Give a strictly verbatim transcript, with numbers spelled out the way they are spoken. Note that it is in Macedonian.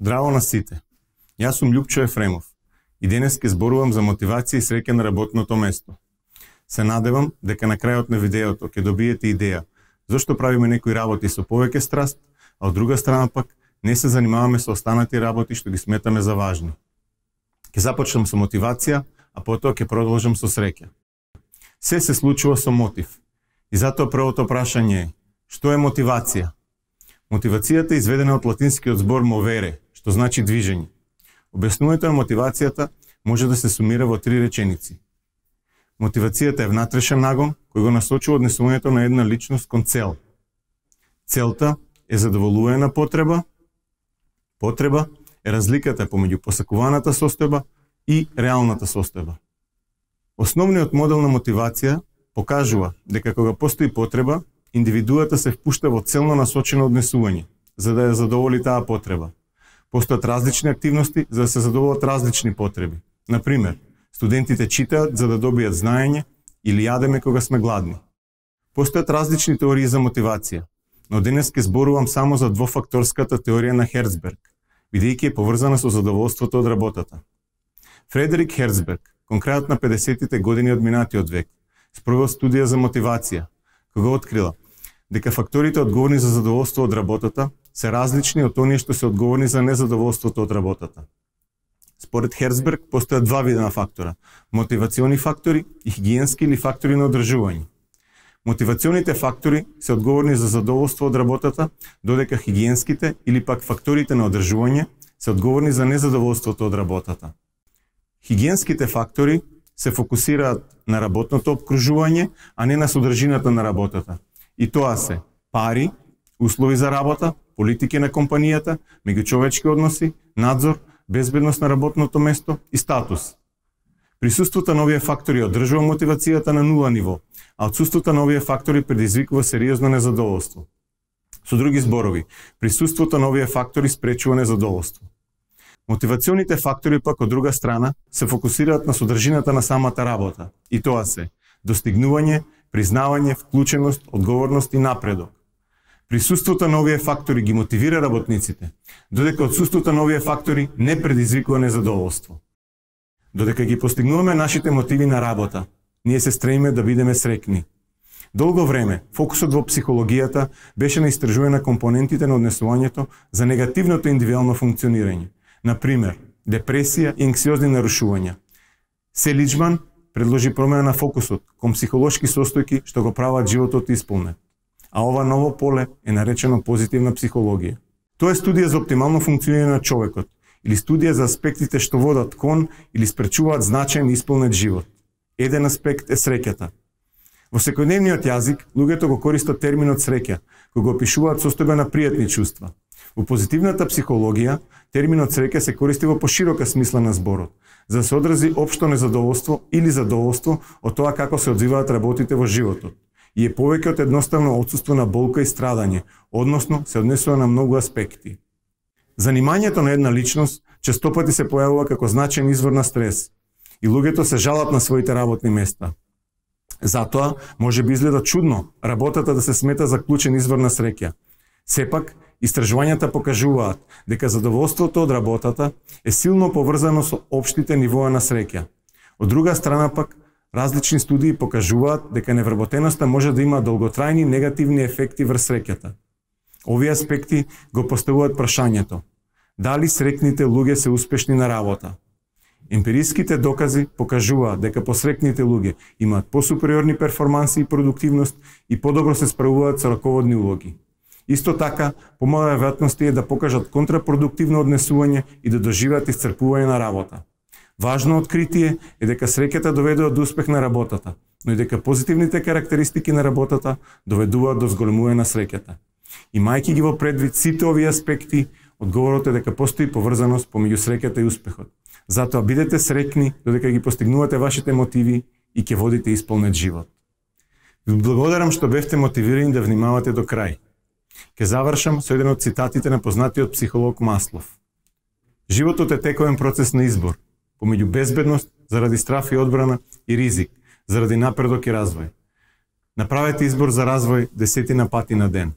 Здраво на сите. Јас сум Љупчо Ефремов и денес ќе зборувам за мотивација и среќа на работното место. Се надевам дека на крајот на видеото ќе добиете идеја зошто правиме некои работи со повеќе страст, а од друга страна пак не се занимаваме со останати работи што ги сметаме за важни. Ќе започнам со мотивација, а потоа ќе продолжам со среќа. Се се случува со мотив. И затоа првото прашање е: што е мотивација? Мотивацијата е изведена од латинскиот збор movere, што значи движење. Објаснувањето на мотивацијата може да се сумира во три реченици. Мотивацијата е внатрешен нагон кој го насочува однесувањето на една личност кон цел. Целта е задоволување на потреба. Потреба е разликата помеѓу посакуваната состојба и реалната состојба. Основниот модел на мотивација покажува дека кога постои потреба, индивидуата се впушта во целно насочено однесување, за да ја задоволи таа потреба. Постојат различни активности за да се задоволат различни потреби. Например, студентите читаат за да добијат знаење или јадеме кога сме гладни. Постојат различни теории за мотивација, но денес ќе зборувам само за двофакторската теорија на Херцберг, бидејќи е поврзана со задоволството од работата. Фредерик Херцберг, кон крајот на педесетите години од минатиот век, спровел студија за мотивација, кога открила дека факторите одговорни за задоволство од работата се различни од оние што се одговорни за незадоволството од работата. Според Херцберг постојат два вида на фактора: мотивациони фактори и хигиенски или фактори на одржување. Мотивационите фактори се одговорни за задоволство од работата, додека хигиенските или пак факторите на одржување се одговорни за незадоволството од работата. Хигиенските фактори се фокусираат на работното обкружување, а не на содржината на работата. И тоа се пари, услови за работа, политики на компанијата, меѓучовечки односи, надзор, безбедност на работното место и статус. Присуството на овие фактори одржува мотивацијата на нула ниво, а отсуството на овие фактори предизвикува сериозно незадоволство. Со други зборови, присуството на овие фактори спречува незадоволство. Мотивационите фактори пак од друга страна се фокусираат на содржината на самата работа, и тоа се достигнување, признавање, вклученост, одговорност и напредок. Присуството на овие фактори ги мотивира работниците, додека отсуството на овие фактори не предизвикува незадоволство. Додека ги постигнуваме нашите мотиви на работа, ние се стремиме да бидеме среќни. Долго време фокусот во психологијата беше на истражување на компонентите на однесувањето за негативното индивидуално функционирање. Например, депресија и анксиозни нарушувања. Селиџман предложи промена на фокусот кон психолошки состојки што го прават животот исполнет. А ова ново поле е наречено позитивна психологија. Тоа е студија за оптимално функционирање на човекот или студија за аспектите што водат кон или спречуваат значаен исполнет живот. Еден аспект е среќата. Во секојдневниот јазик луѓето го користат терминот среќа, кога го опишуваат состојба на пријатни чувства. Во позитивната психологија, терминот среќа се користи во поширока смисла на зборот, за да се одрази општо незадоволство или задоволство од тоа како се одвиваат работите во животот. И е повеќе од едноставно отсуство на болка и страдање, односно се однесува на многу аспекти. Занимањето на една личност честопати се појавува како значаен извор на стрес и луѓето се жалат на своите работни места. Затоа може би изгледа чудно работата да се смета за клучен извор на среќа. Сепак, истражувањата покажуваат дека задоволството од работата е силно поврзано со општите нивоа на среќа. Од друга страна пак, различни студии покажуваат дека невработеноста може да има долготрајни негативни ефекти врз среќата. Овие аспекти го поставуваат прашањето: дали среќните луѓе се успешни на работа? Емпириските докази покажуваат дека посреќните луѓе имаат посупериорни перформанси и продуктивност и подобро се справуваат со раководни улоги. Исто така, помала веројатност е да покажат контрапродуктивно однесување и да доживеат исцрпување на работа. Важно откритие е дека среќата доведува до успех на работата, но и дека позитивните карактеристики на работата доведуваат до зголемување на среќата. Имајќи ги во предвид сите овие аспекти, одговорот е дека постои поврзаност помеѓу среќата и успехот. Затоа бидете среќни додека ги постигнувате вашите мотиви и ќе водите исполнет живот. Ви благодарам што бевте мотивирани да внимавате до крај. Ке завршам со еден од цитатите на познатиот психолог Маслов. Животот е тековен процес на избор, помеѓу безбедност, заради страф и одбрана, и ризик, заради напредок и развој. Направете избор за развој десетина пати на ден.